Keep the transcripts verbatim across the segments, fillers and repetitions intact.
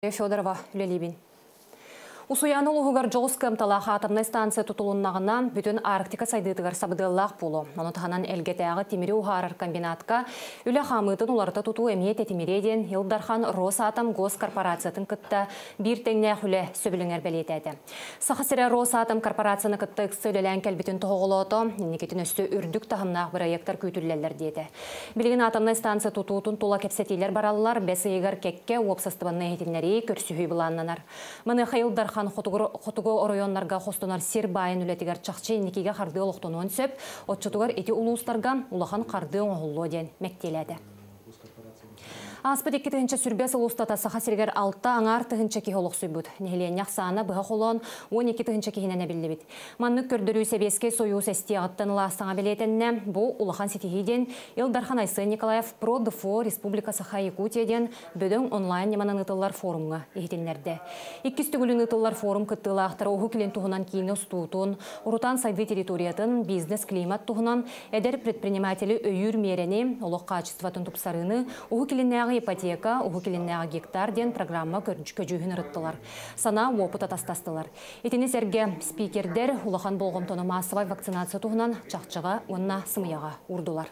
Федорова үлэлиибин. Усуйаана улууһугар дьоҕус кыамталаах атомнай станция тутулуннаҕына, бүтүн Арктика сайдыытыгар сабыдыаллаах буолуо. Ону таһынан Элгэтээҕи тимири уһаарар комбинатка үлэ хаамыытын уларыта тутуу эмиэ тэтимириэ диэн Ил Дархан Росатом госкорпорациятын кытта биир тэҥнээх үлэ сөбүлэҥэр бэлиэтээтэ. Саха сирэ Росатом корпорацияны кытта ыкса үлэлээн кэлбитин тоһоҕолоото, инникитин өссө үрдүк таһымнаах бырайыактар күүтүллэллэр диэтэ. Билигин атомнай станция тутуутун тула кэпсэтиилэр бараллар, бэс ыйыгар кэккэ уопсастыбаннай иһитиннэрии көрсүһүү былааннанар. Маныаха Ил Дархан хотугу оройуоннарга хостонор сир баайын үлэтигэр чахчы инникигэ хардыы олохтонуон сөп, оччотугар ити улуустарга улахан хардыы оҥоһуллуо диэн мэктиэлээтэ. Ааспыт икки тыһыынча сүүрбэ сыл устата Саха сиригэр алта аҥаар тыһыынча киһи олохсуйбут. Нэһилиэнньэ ахсаана быһа холоон уон икки тыһыынча киһинэн эбиллибит. Маннык көрдөрүү Сэбиэскэй Сойуус эстиэҕиттэн ыла саҥа бэлиэтэннэ. Бу улахан ситиһии диэн Ил Дархан Айсен Николаев Про-ДФО Республика Саха-Якутия диэн бөдөҥ онлайн ньыманан ыытыллар форумҥа иһитиннэрдэ. Иккис төгүлүн ыытыллар форум кыттыылаахтара Уһук Илин туһунан киинэ устуутун, урутаан сайдыы территориятын, бизнес-климат туһунан, эдэр предприниматели өйүүр миэрэни, олох хаачыстыбатын тупсарыыны, Уһук Илиннээҕи ипотека, Уһук Илиннээҕи гектар диэн программа көдьүүһүн ырыттылар. Санаа, уопут атастастылар. Итини сэргэ спикердэр улахан болҕомтону маассабай вакцинация туһунан чахчыга уонна сымыйаҕа уурдулар.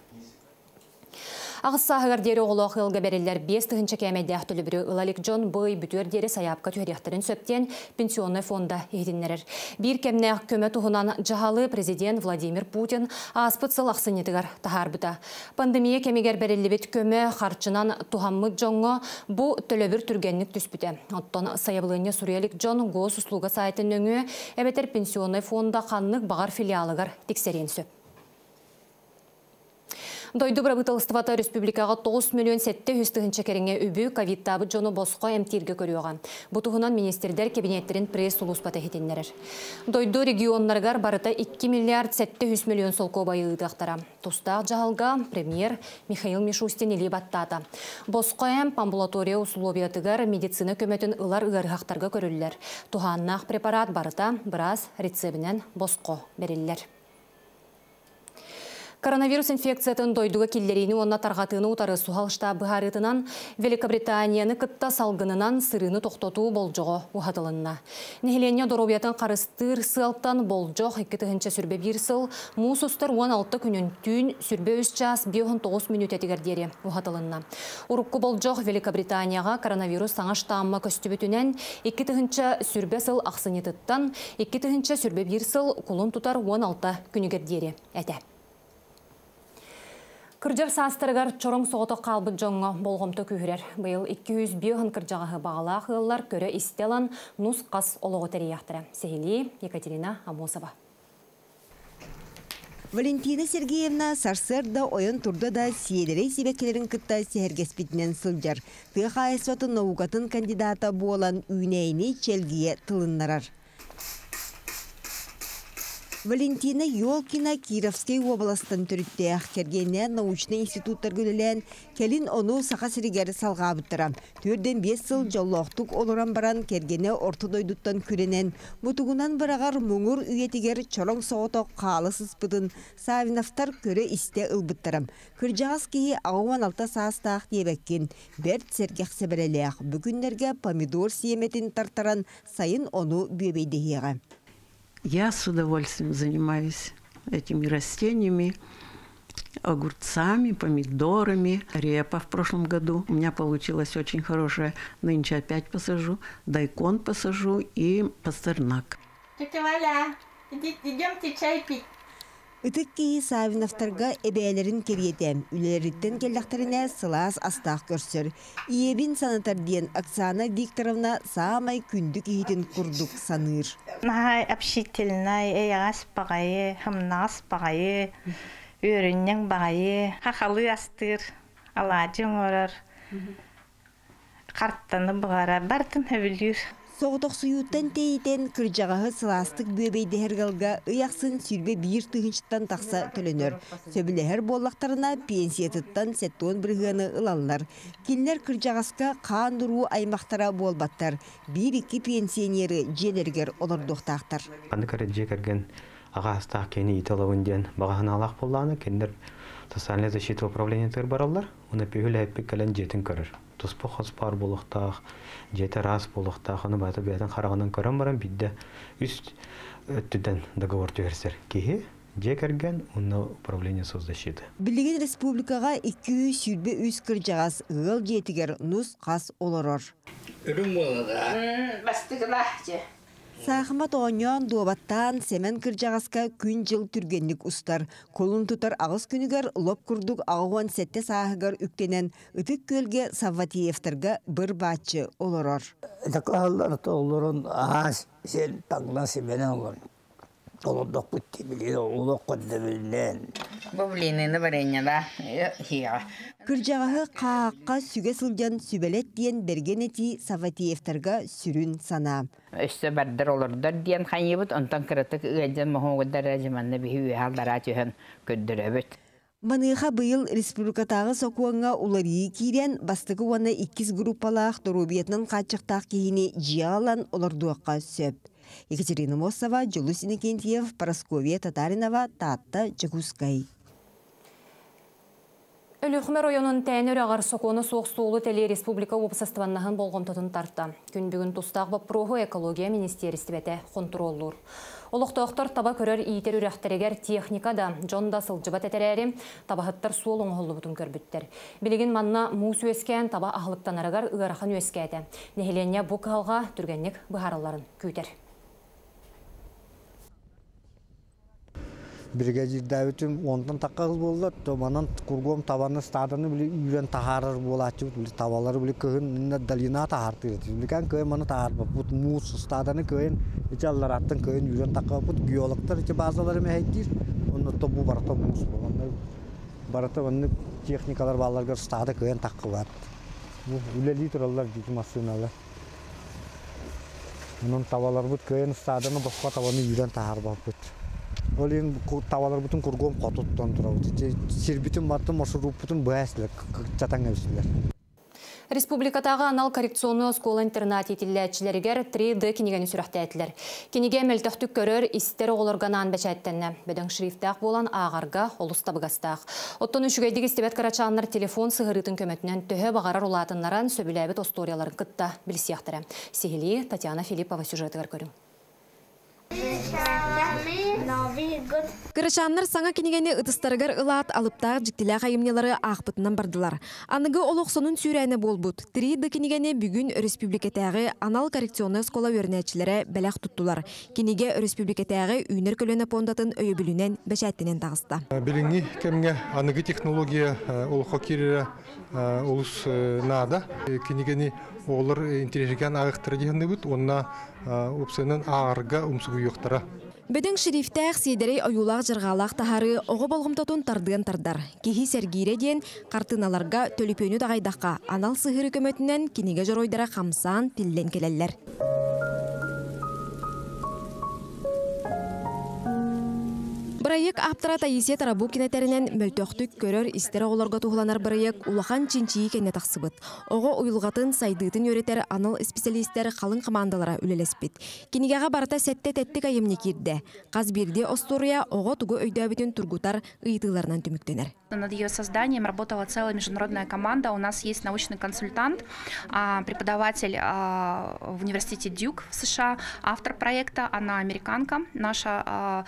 Аҕыс сааһыгар диэри оҕолоох ыалга бэриллэр биэс тыһыынча кээмэйдээх төлөбүрү ыла илик дьон бу ый бүтүөр диэри сайаапка түһэриэхтэрин сөп диэн Пенсионнай фонда иһитиннэрэр. Биир кэмнээх көмө туһунан дьаһалы президент Владимир Путин ааспыт сыл ахсынньытыгар таһаарбыта. Пандемия кэмигэр бэриллибит көмө харчынан туһаммыт дьоҥҥо бу төлөбүр түргэнник түспүтэ. Оттон сайабылыанньа суруйа илик дьон госуслуга сайтын нөҥүө эбэтэр Пенсионнай фонда ханнык баҕар филиалыгар тиксэриэн сөп. Дойду бырабыыталыстыбата республикаҕа тоҕус миллион сэттэ сүүс тыһыынча кэриҥэ үбү ковидтаабыт дьону босхо эмтииргэ көрүөҕэ. Бу туһунан министрдэр кэбиниэттэрин пресс-сулууспата иһитиннэрэр. Дойду регионнарыгар барыта икки миллиард сэттэ сүүс миллион солкуобайы ыытыахтара. Тустаах дьаһалга премьер Михаил Мишустин илии баттаата. Босхо эмп амбулатория усулуобуйатыгар медицина көмөтүн ылар ыарыһахтарга көрүллэр. Туһааннаах препарат барыта быраас рецебинэн босхо бэриллэр. Коронавирус инфекциятын дойдуга киллэриини уонна тарҕатыыны утары суһал штаб быһаарыытынан Великобританияны кытта салгынынан сырыыны тохтотуу болдьоҕо уһатылынна. Нэһилиэнньэ доруобуйатын харыстыыр сыалтан болдьох икки тыһыынча сүүрбэ биир сыл муус устар уон алта күнүн түүн сүүрбэ үс чаас биэс уон тоҕус мүнүүтэтигэр диэри уһатылынна. Урукку болдьох Великобританияҕа коронавирус саҥа штамма көстүбүтүнэн икки тыһыынча сүүрбэ сыл ахсынньытыттан икки тыһыынча сүүрбэ биир сыл кулун тутар уон алта күнүгэр диэри этэ. Кырдьар саастарыгар чороҥ соҕотох хаалбыт дьоҥҥо болҕомто күүһүрэр. Быйыл икки сүүс биэс кырдьаҕаһы баҕалаах ыаллар көрө-истэ ылан нус-хас олоҕу тэрийиэхтэрэ. Сиһилии Екатерина Амосова. Валентина Сергеевна сарсыарда ойон турда да сиэдэрэй сибэккилэрин кытта сэһэргэспитинэн сылдьар. Тыа хаһаайыстыбатын наукатын кандидата буолан үүнээйини чэлгийэ тылыннарар. Валентина Ёлкина Кировскай уобаластан төрүттээх, кэргэнинээн научнай институттарга үлэлээн, кэлин ону Саха сиригэр салҕаабыттара. Түөртэн биэс сыл дьоллоохтук олорон баран кэргэнэ орто дойдуттан күрэнэн, мутугунан быраҕар муҥур үйэтигэр чороҥ соҕотох хаала сыспытын Савиновтар көрө-истэ ылбыттара. Кырдьаҕас киһи аҕыс уон алта саастаах диэбэккин, бэрт сэргэх сэбэрэлээх, бу күннэргэ помидор сиэмэтин тартаран сайын ону бүөбэйдэһиэҕэ. Я с удовольствием занимаюсь этими растениями, огурцами, помидорами. Репа в прошлом году у меня получилась очень хорошая. Нынче опять посажу, дайкон посажу и пастернак. Тетя Валя, идемте чай пить. Ытык киһи Савиновтарга эбээлэрин кэриэтэ, үлэлэриттэн кэллэхтэринэ сылаас астаах көрсөр. Ийэбин санатар диэн Оксана Викторовна саамай күндү киһитин курдук саныыр. Наһаа общительнай, эйэҕэс баҕайы, хымнаҕас баҕайы, үөрүнньэҥ баҕайы, хахалыы астыыр, алаадьы оҥорор, хартаны буһарар, барытын сөбүлүүр. Соҕотохсуйууттан тэйитэн кырдьаҕаһы сылаастык бүөбэйдэһэр ыалга ый ахсын сүүрбэ биир тыһыынчаттан тахса төлөнөр. Сөбүлэһэр буоллахтарына пенсиятыттан сэттэ уон бырыһыаны ылаллар. Кинилэр кырдьаҕаска хаан уруу аймахтара буолбаттар. Биир-икки пенсионеры дьиэлэригэр олордуохтаахтар. Ханнык эрэ дьиэ кэргэн аҕа астаах киһини иитэ ылабын диэн баҕа санаалаах буоллаҕына, кинилэр социальная защита управлениетыгар бараллар. Уонна пүһүл эппит кэлэн дьиэтин көрөр. Туспа хос баар буолуохтаах, дьиэтэ ыраас буолуохтаах, ону барыта бэйэтин хараҕынан көрөн баран биирдэ үс өттүттэн договор түһэрсэр киһи, дьиэ кэргэн уонна управление соцзащиты. Билигин республикаҕа икки сүүс сүүрбэ үс кырдьаҕас ыал дьиэтигэр нус-хас олорор. Үрүҥ буолла да. Бастыгылаах дьэ. Саахымат оонньоон, дуобаттаан, Сэмэн кырдьаҕаска күн-дьыл түргэнник устар. Кулун тутар аҕыс күнүгэр лоп курдук аҕыс уон сэттэ сааһыгар үктэнэн Ытык Күөлгэ Савватеевтарга быр-бааччы олорор. Дакааллар олорон аһаас сен таҥна сибэнэн олорон. Олордохпут тибили олох көрдөбүллээн. Бу блинины вареньяла хиа. Кырдьаҕаһы хаахха сүгэ сылдьан сүбэлэт диэн бэргэн этии Савватеевтарга сүрүн санаа. Өссө бардар олордор диэн хайыбыт, онтон кыратык ыалдьан моһуогудар дьыманна биһи үөһэ аллараа түһэн көрдөрөбүт. Маныаха быйыл республикатааҕы сокуоҥҥа уларыйыы киирэн, бастакы уонна иккис группалаах доруобуйатынан хааччахтаах киһини дьиэҕэ ылан олордуохха сөп. Екатерина Мосова, Дьулус Иннокентьев, Парасковья Татаринова, Таатта, Дьокуускай. Өлүөхүмэ оройуонун Тээнэ үрэҕэр сокуона суох суолу тэлии республика уопсастыбаннаһын болҕомтотун тарта. Күн бүгүн тустаах боппуруоһу экология министиэристибэтэ хонтуруоллуур. Олохтоохтор таба көрөр иитэр үрэхтэригэр техника да, дьон да сылдьыбат этэрээри, табаһыттар суол оҥоһуллубутун көрбүттэр. Билигин манна муус үөскээн таба аһылыктанарыгар ыарахан үөскээтэ. Нэһилиэнньэ бу кыһалҕа түргэнник быһаарылларын күүтэр. Бригадирдээбитим онтон тахха қыз боллар, то манан кургом табаны стаданы били үйрен тахарар болачы, били табалары били кыһын долина тахартыр. Билген кыйын маны тахарбаппыт, муус стаданы кыйын ичи аллараттан кыйын үйрен тахабыт, геологтар ичи базалары мехейдир. Онно то бу барата муус боланны. Барата онны техникалар баларгар стада кыйын тахкыбат. Бу үлели тураллар дити машиналар. Онон табалар бут кыйын стаданы боско табаны үйрен тахарбаппыт. Ол ең табалар бүтін кургом хотуттан турабыт. Сирбитин баттын маршрутпутун бәслер, чатаң өсүлөр. Республикатааҕы анал коррекционный оскуола-интернат иитиллээччилэригэр три Д кинигэни сүрэхтээтилэр. Кинигэ мөлтөхтүк көрөр, истэр оҕолорго анаан бэчээттэннэ. Бөдөҥ шрифтээх буолан ааҕарга олус табыгастаах. Оттон үчүгэйдик истибэт кырачааннар телефон сыһырыытын көмөтүнэн төһө баҕарар улаатыннаран сөбүлээбит остуоруйаларын кытта билсиэхтэрэ. Сиһилии Татьяна Филиппова сюжетыгар көрүҥ. Кырачааннар саҥа кинигэни ытыстарыгар ылаат алыптаах дьиктилээх айымньылары аахпытынан бардылар. Аныгы олох сонун сүүрээнэ буолбут. три Д кинигэни бүгүн өрөспүүбүлүкэтээҕи анал коррекционнай оскуола үөрэнээччилэрэ бэлэх туттулар. Кинигэ өрөспүүбүлүкэтээҕи үүнэр көлүөнэ пуондатын өйөбүлүнэн бэчээттэнэн таҕыста. Билиҥҥи кэмҥэ аныгы технология олоххо киирэрэ олус наада. Кинигэни оҕолор интэриэһиргээн ааҕыахтара диһанныбыт уонна уопсайынан ааҕарга умсугуйуохтара. Бөдөҥ шрифтээх сиэдэрэй ойуулаах дьарҕаалаах таһаарыы оҕо болҕомтотун тардыан тардар. Киһи сэргиирэ диэн хартыыналарга төлөпүөнү даҕайдахха анал сыһыыры көмөтүнэн кинигэ дьоруойдара хамсаан тиллэн кэлэллэр. Бырайыак ааптара Таисия Тарабукина тэринэн мөлтөхтүк көрөр истэр оҕолорго туһуланар бырайыак улахан чинчийии кэннэ тахсыбыт. Оҕо уйулҕатын сайдыытын үөрэтэр анал исписэлиистэр халыҥ хамаандалара үлэлэспит. Кинигэҕэ барыта сэттэ тэттик айымньы киирдэ. Хас биирдии остуоруйа оҕо тугу өйдөөбүтүн тургутар ыйытыыларынан түмүктэнэр. Над ее созданием работала целая международная команда. У нас есть научный консультант, а, преподаватель, а, в университете Дьюк в США, автор проекта, она американка, наша, а,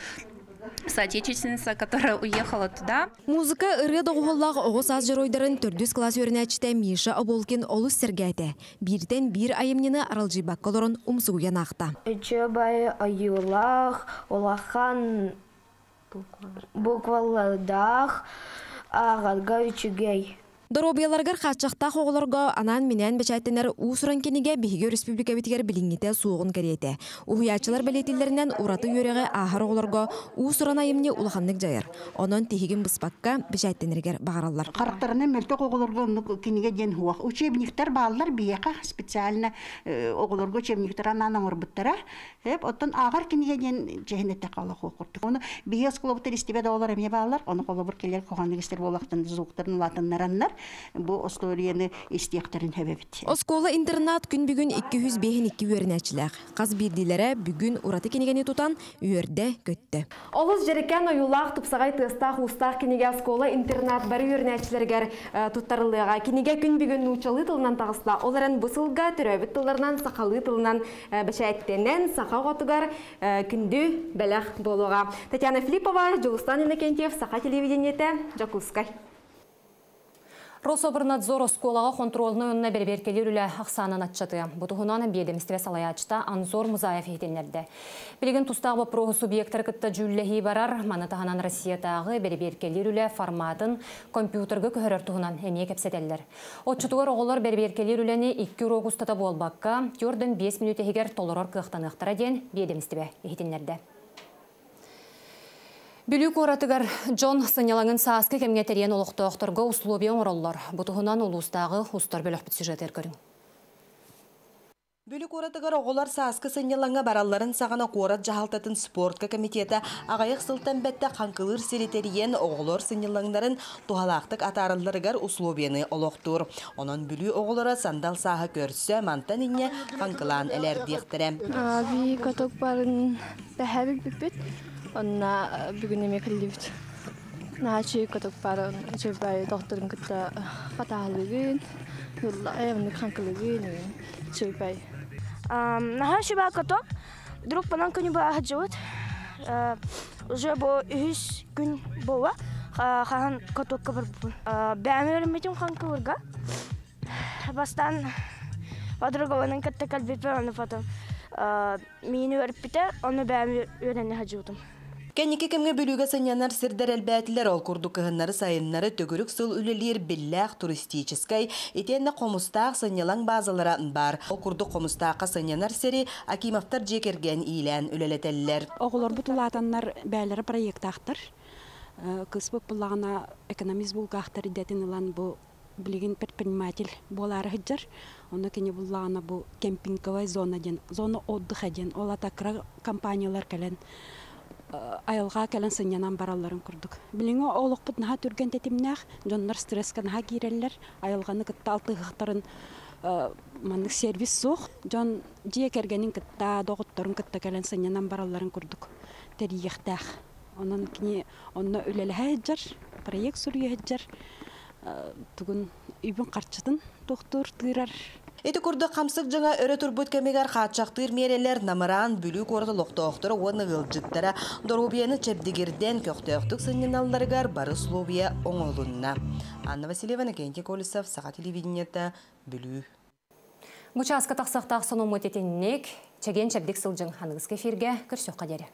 соотечественница, которая уехала туда. Музыка ырыа доҕуһуоллаах оҕо саас дьоруойдарын төрдүс класс үөрэнээччитэ Миша Оболкин олус сэргээтэ. Бииртэн биир айымньыны аралдьыйбакка олорон умсугуйан аахта. Үчүгэй ойуулаах, улахан буквалардаах, ааҕарга үчүгэй. Доруобуйаларыгар хааччахтаах оҕолорго анаан-минээн бэчээттэнэр уус-уран кинигэ биһиги өрөспүүбүлүкэбитигэр билиҥҥитэ суоҕун кэриэтэ. Уһуйааччылар бэлиэтииллэринэн ураты үөрэҕи ааһар оҕолорго уус-уран айымньы улаханнык дьайар. Онон тиһигин быспакка бэчээттэнэригэр баҕараллар. Харахтарынан мөлтөх оҕолорго оннук кинигэ диэн хуох. Учебниктар бааллар биһиэхэ специально, э, оҕолорго учебниктар анаан оҥорбуттара. Эп, оттон ааҕар кинигэ диэн дьэһинэтэ хаалах хуох курдук. Ону биһиги оскуолабыт истибэт оҕолор эмиэ бааллар. Ону холобур келер коханнык истер буолахтан звуктарын улаатыннараннар. Бу историяны истиэхтэрин сөп эбит. Оскуола-интернат күн бүгүн икки сүүс биэс икки үөрэнээччилээх. Хас биирдиилэрэ бүгүн ураты кинигэни тутан үөрдэ көттө. Олус дьэрэкээн ойуулаах тупсаҕай тыастаах-уустаах кинигэ оскуола-интернат бары үөрэнээччилэригэр туттарыллыаҕа. Кинигэ күн бүгүн нууччалыы тылынан таҕыста. Ол эрэн бу сылга төрөөбүт тылларынан сахалыы тылынан бэчээттэнэн саха оҕотугар күндү бэлэх буолуоҕа. Татьяна Филиппова, Дьулустан Иннокентьев, Саха телевидениетэ, Дьокуускай. Рособрнадзор оскуолаҕа хонтуруолунай уонна бэрэбиэркэлиир үлэ ахсаанын аччатыа. Бу туһунан биэдэмистибэ салайааччыта Анзор Музаев иһитиннэрдэ. Билигин тустаах боппуруоһу субъектары кытта дьүүллэһии барар, маны таһынан Россиятааҕы бэрэбиэркэлиир үлэ форматын компьютерга көһөрөр туһунан эмиэ кэпсэтэллэр. Отчутугар оҕолор бэрэбиэркэлиир үлэни икки уруок устата буолбакка, түөртэн биэс мүнүүтэ иһигэр толорор кыахтаныахтара диэн биэдэмистибэ иһитиннэрдэ. Бүлүү куоратыгар дьон сынньалаҥын сааскы кэмҥэ тэрийэн олохтоохторго условия оҥороллор. Бу туһунан улуустааҕы устар бөлөхпүт сюжетыгар көрүҥ. Бүлүү куоратыгар оҕолор сааскы сынньалаҥҥа баралларын саҕана куорат дьаһалтатын спортка комитета аҕыйах сылтан бэттэх хаҥкылыыр сири тэрийэн оҕолор сынньалаҥнарын туһалаахтык атааралларыгар условияны олохтуур. Онон Бүлүү оҕолоро сандал сааһы көрсө мантан инньэ хаҥкылаан элээрдиэхтэрэ. Би каток барын бэһэбил бүппүт. Онна бүгүн эме кэллибит. Наачы каток барын үчүгэй докторун кытта хатаалыгын, юлла эвник хаҥкылыгын үчүгэй. Наһаа үчүгэй каток. Друг панан күнү бу ахджыбыт. Уже бу үһүс күн буола. Хаһан катокка барбыппын. Бэйэм үөрэммитим хаҥкылырга. Бастаан подругаларын кытта кэлбиппин, ону потом миини үөрпүтэ, ону бэйэм үөрэнэ сылдьыбытым. Кэнники кэмҥэ Бүлүүгэ сынньанар сирдэр элбээтилэр, ол курдук кыһыннары сайыннары төгүрүк сыл үлэлиир биллээх туристическай итиэннэ Хомустаах сынньалаҥ базалара баар. Ол курдук Хомустаахха сынньанар сири Акимовтар дьиэ кэргэн иилээн үлэлэтэллэр. Оҕолорбут улаатаннар бэйэлэрэ проектаахтар. Кыыспыт буллаҕына экономист булгаахтар идэтин ылан бу билигин предприниматель буолаары сылдьар. Онно кини буллаҕына бу кемпинговая зона диэн, зона отдыха диэн, ол ата кыра компаниялар кэлэн айылҕа кэлэн сынньанан баралларын курдук. Билиҥҥи олохпут наһаа түргэн тэтимнээх, дьоннор стресскэ наһаа киирэллэр, айылҕаны кытта алтыһыахтарын маннык сервис суох. Дьон дьиэ кэргэнин кытта, доҕотторун кытта кэлэн сынньанан баралларын курдук тэрийиэхтээх. Онон кини онно үлэлэһэ сылдьар, проект суруйа сылдьар, тугун үбүн харчытын тохтуур тыырар. Ити курдук хамсык дьаҥа өрө турбут кэмигэр хааччахтыыр миэрэлэр намыраан Бүлүү куорат олохтоохторо уонна ыалдьыттара доруобуйаны чэбдигирдэн көхтөөхтүк сынньаналларыгар бары условия оҥоһулунна. Анна Васильева, Иннокентий Колесов, Саха телевидениета, Бүлүү. Бу чааска тахсыахтаах сонуммут итинник, чэгиэн чэбдик сылдьыҥ аныгыскы эфиргэ көрсүөххэ диэри.